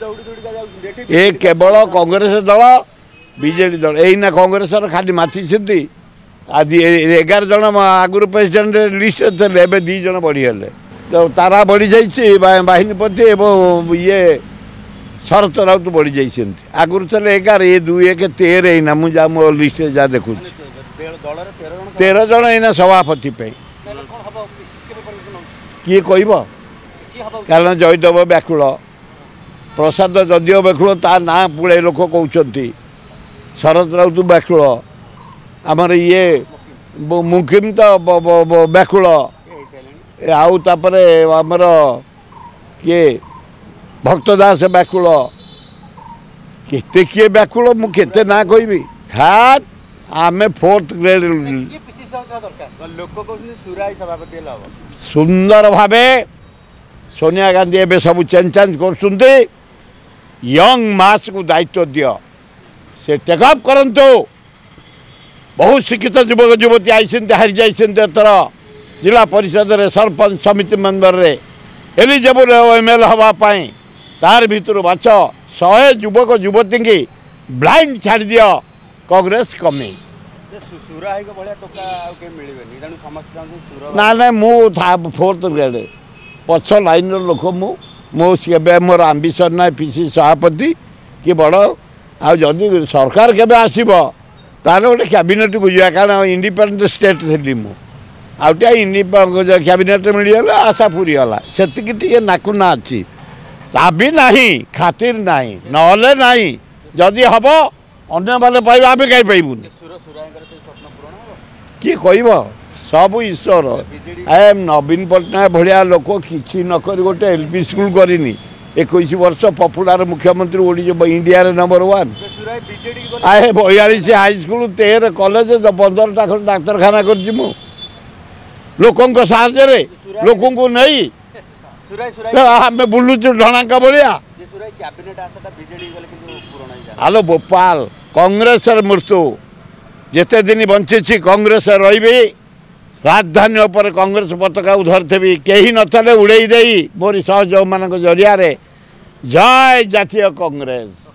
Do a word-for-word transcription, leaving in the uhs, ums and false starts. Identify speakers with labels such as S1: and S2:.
S1: ଦୌଡ଼ି ଦୌଡ଼ିକା ଯାଉଛନ୍ତି ଏଠି।
S2: ଏ କେବଳ କଂଗ୍ରେସ ଦଳ, ବିଜେଡ଼ି ଦଳ ଏଇନା କଂଗ୍ରେସର ଖାଲି ମାତିଛନ୍ତି। ଆଜି ଏଗାର ଜଣ ଆଗରୁ ପ୍ରେସିଡେଣ୍ଟ ଲିଷ୍ଟ ଥିଲେ, ଏବେ ଦୁଇ ଜଣ ବଢ଼ିଗଲେ। ତ ତାରା ବଢ଼ିଯାଇଛି ବାହିନୀପତି ଏବଂ ଇଏ ଶରତ ରାଉତ ବଢ଼ିଯାଇଛନ୍ତି। ଆଗରୁ ଥିଲେ ଏଗାର, ଏ ଦୁଇ ଏକ ତେର ଏଇନା ମୁଁ ଯାହା ମୋ ଲିଷ୍ଟରେ ଯାହା ଦେଖୁଛି ତେର ଜଣ ଏଇନା ସଭାପତି ପାଇଁ। କିଏ କହିବ? କାରଣ ଜୟଦେବ ବ୍ୟାକୁଳ, ପ୍ରସାଦ ଯଦିଓ ବ୍ୟାକୁଳ, ତା ନାଁ ପୁଳାଏ ଲୋକ କହୁଛନ୍ତି। ଶରତ ରାଉତ ବ୍ୟାକୁଳ, ଆମର ଇଏ ମୁକିମ ତ ବ୍ୟାକୁଳ, ଆଉ ତାପରେ ଆମର କିଏ ଭକ୍ତ ଦାସ ବ୍ୟାକୁଳ। କେତେ କିଏ ବ୍ୟାକୁଳ, ମୁଁ କେତେ ନାଁ କହିବି? ହଁ, ଆମେ ଫୋର୍ଥ ଗ୍ରେଡ୍। ସୁନ୍ଦର ଭାବେ ସୋନିଆ ଗାନ୍ଧୀ ଏବେ ସବୁ ଚେଞ୍ଜ ଚାଞ୍ଜ କରୁଛନ୍ତି। ୟଙ୍ଗ ମାସକୁ ଦାୟିତ୍ୱ ଦିଅ, ସେ ଟେକଅପ୍ କରନ୍ତୁ। ବହୁତ ଶିକ୍ଷିତ ଯୁବକ ଯୁବତୀ ଆଇଛନ୍ତି, ହାରିଯାଇଛନ୍ତି ଏଥର ଜିଲ୍ଲା ପରିଷଦରେ, ସରପଞ୍ଚ, ସମିତି ମେମ୍ବରରେ ଏଲିଜିବଲ୍ ଏମ୍ ଏଲ୍ ହେବା ପାଇଁ। ତାର ଭିତରୁ ବାଛ ଶହେ ଯୁବକ ଯୁବତୀଙ୍କି, ବ୍ଲାଇଣ୍ଡ ଛାଡ଼ିଦିଅ, କଂଗ୍ରେସ କମେଇ। ନା ନା, ମୁଁ ଫୋର୍ଥ ଗ୍ରେଡ୍ ପଛ ଲାଇନ୍ର ଲୋକ। ମୁଁ ମୁଁ କେବେ ମୋର ଆମ୍ବିସନ୍ ନାହିଁ ପି ସି ସଭାପତି କି ବଡ଼। ଆଉ ଯଦି ସରକାର କେବେ ଆସିବ ତାହେଲେ ଗୋଟେ କ୍ୟାବିନେଟ୍କୁ ଯିବା, କାରଣ ଇଣ୍ଡିପେଣ୍ଡେଣ୍ଟ ଷ୍ଟେଟ୍ ଥିଲି ମୁଁ। ଆଉ ଟିକେ ଇଣ୍ଡି କ୍ୟାବିନେଟ୍ ମିଳିଗଲା ଆଶା ପୁରିଗଲା। ସେତିକି ଟିକେ ନାକୁନା ଅଛି, ତା ବି ନାହିଁ, ଖାତିର ନାହିଁ, ନହେଲେ ନାହିଁ। ଯଦି ହେବ ଅନ୍ୟମାନେ ପାଇବେ, ଆମେ କାହିଁ ପାଇବୁନି? କିଏ କହିବ? ସବୁ ଈଶ୍ୱର। ଏ ନବୀନ ପଟ୍ଟନାୟକ ଭଳିଆ ଲୋକ କିଛି ନ କରି ଗୋଟେ ଏଲ୍ ପି ସ୍କୁଲ କରିନି, ଏକୋଇଶ ବର୍ଷ ପପୁଲାର ମୁଖ୍ୟମନ୍ତ୍ରୀ, ଓଡ଼ିଶା ଇଣ୍ଡିଆରେ ନମ୍ବର ୱାନ୍। ଆଏ ବୟାଳିଶ ହାଇସ୍କୁଲ, ତେର କଲେଜ, ପନ୍ଦରଟା ଖଣ୍ଡେ ଡାକ୍ତରଖାନା କରିଛି ମୁଁ ଲୋକଙ୍କ ସାହାଯ୍ୟରେ, ଲୋକଙ୍କୁ ନେଇ ଆମେ ବୁଲୁଛୁ ଢଣାଙ୍କ ଭଳିଆ। ହାଲୋ ଗୋପାଲ, କଂଗ୍ରେସର ମୃତ୍ୟୁ। ଯେତେ ଦିନ ବଞ୍ଚିଛି କଂଗ୍ରେସ ରହିବି। ରାଜଧାନୀ ଉପରେ କଂଗ୍ରେସ ପତାକାକୁ ଧରିଥିବି, କେହି ନଥିଲେ ଉଡ଼େଇ ଦେଇ ମୋରି ସହଯୋଗମାନଙ୍କ ଜରିଆରେ। ଜୟ ଜାତୀୟ କଂଗ୍ରେସ।